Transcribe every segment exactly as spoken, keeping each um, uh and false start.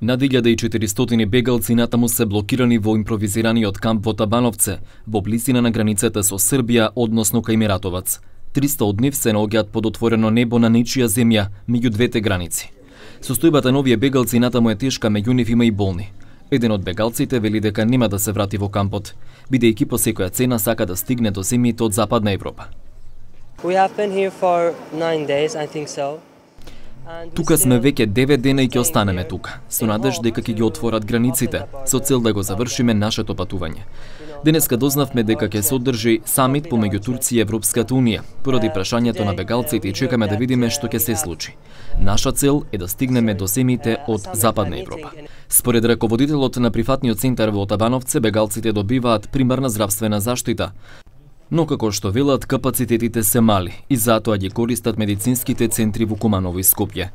Над илјада и четиристотини бегалци натаму се блокирани во импровизираниот камп во Табановце, во близина на границата со Србија, односно кај Миратовац. триста од нив се наоѓаат под отворено небо на нечија земја, меѓу двете граници. Состојбата на овие бегалци натаму е тешка, меѓу нив има и болни. Еден од бегалците вели дека нема да се врати во кампот, бидејќи по секоја цена сака да стигне до земјите од Западна Европа. We have been here for nine days, I think so. Тука сме веќе девет дена и ќе останеме тука, со надеж дека ќе ги отворат границите, со цел да го завршиме нашето патување. Денеска дознавме дека ќе се одржи самит помеѓу Турција и Европската унија, поради прашањето на бегалците и чекаме да видиме што ќе се случи. Наша цел е да стигнеме до земјите од Западна Европа. Според раководителот на прифатниот центар во Табановце, бегалците добиваат примарна здравствена заштита, но како што велат, капацитетите се мали и затоа ги користат медицинските центри во Куманово и Скопје.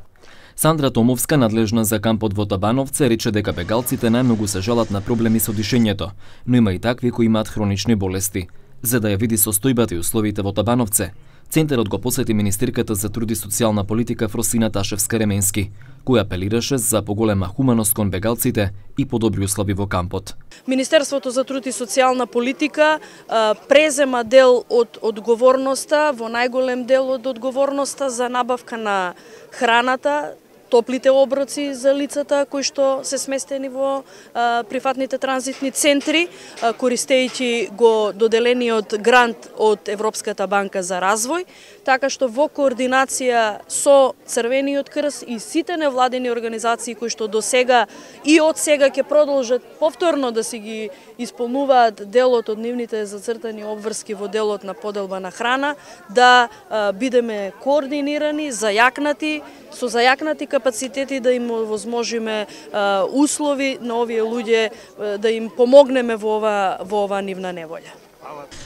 Сандра Томовска, надлежна за кампот во Табановце, рече дека бегалците најмногу се жалат на проблеми со дишењето, но има и такви кои имаат хронични болести. За да ја види состојбата и условите во Табановце, центарот го посети министерката за труд и социјална политика Фросина Ташевска-Ременски, која апелираше за поголема хуманост кон бегалците и подобри услови во кампот. Министерството за труд и социјална политика а, презема дел од одговорноста, во најголем дел од одговорноста за набавка на храната, топлите оброци за лицата кои што се сместени во а, прифатните транзитни центри, а, користејќи го доделениот грант од Европската банка за развој, така што во координација со Црвениот крст и сите невладени организации кои што до сега и од сега ќе продолжат повторно да си ги исполнуваат делот од нивните зацртани обврски во делот на поделба на храна, да а, бидеме координирани, зајакнати, со зајакнати капацитети да им возможиме а, услови на овие луѓе, а, да им помогнеме во ова, во ова нивна неволја.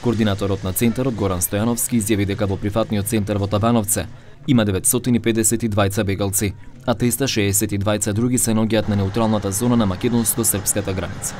Координаторот на центарот Горан Стојановски изјави дека во прифатниот центар во Табановце има деветстотини и педесет и двајца бегалци, а триста шеесет и двајца други се наоѓаат на неутралната зона на македонско-српската граница.